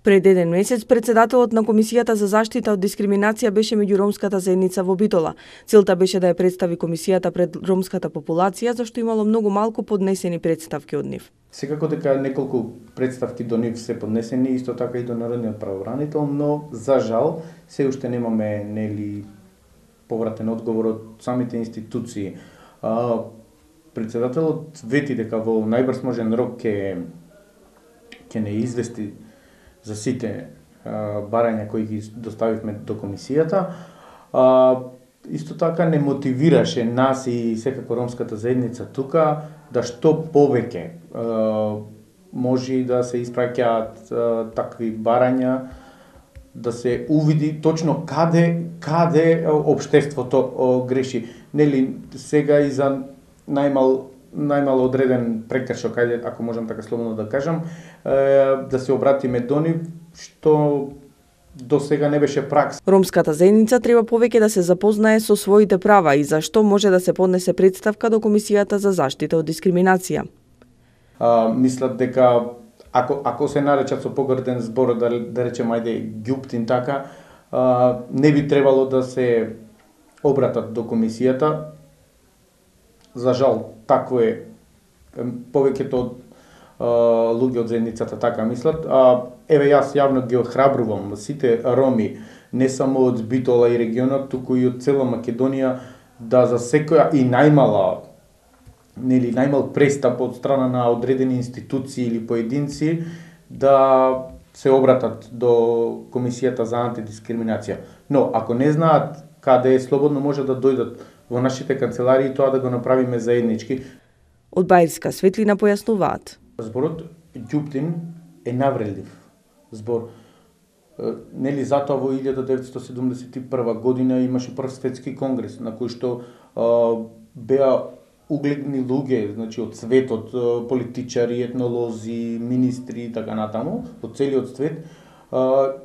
Пред еден месец председателот на Комисијата за заштита од дискриминација беше меѓу ромската заедница во Битола. Целта беше да ја представи комисијата пред ромската популација, зашто имало многу малку поднесени представки од нив. Секако дека неколку представки до нив се поднесени, исто така и до народниот правобранител, но за жал се уште немаме повратен одговор од самите институции. Председателот вети дека во најбрз можен рок ќе не извести за сите барања кои ги доставивме до комисијата. Исто така не мотивираше нас и секако ромската заедница тука да што повеќе може да се испраќаат такви барања, да се увиди точно каде општеството греши. Нели сега и за најмал одреден прекршок, ако можам така слободно да кажам, да се обратиме до нив, што до сега не беше пракса. Ромската заедница треба повеќе да се запознае со своите права и зашто може да се поднесе представка до Комисијата за заштита од дискриминација. Мислат дека ако се наречат со погрден збор, да речем ајде ѓуптин така, не би требало да се обратат до комисијата. За жал, такво е, повеќето луѓе од заедницата така мислат. Еве јас јавно ги охрабрувам сите роми, не само од Битола и регионот, туку и од цела Македонија, да за секоја и најмал престап од страна на одредени институции или поединци да се обратат до Комисијата за антидискриминација. Но ако не знаат каде е, слободно може да дојдат во нашите канцеларии, тоа да го направиме заеднички. Од Баирска Светлина појаснуваат. Зборот ѓуптин е навредлив збор. Нели затоа во 1971 година имаше прв светски конгрес на кој што беа угледни луѓе, значи од светот, политичари, етнолози, министри и така натаму, од целиот свет,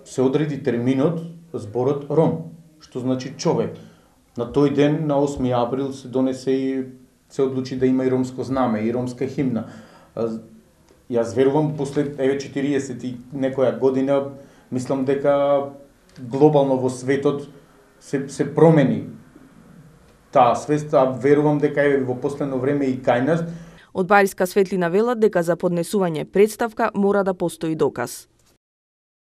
се одреди терминот зборот ром, што значи човек. На тој ден, на 8 април, се донесе и се одлучи да има и ромско знаме, и ромска химна. Јас верувам, после 40 и некоја година, мислам дека глобално во светот се промени таа свест, верувам дека е во последно време и кај нас. Од Баирска Светлина велат дека за поднесување представка мора да постои доказ.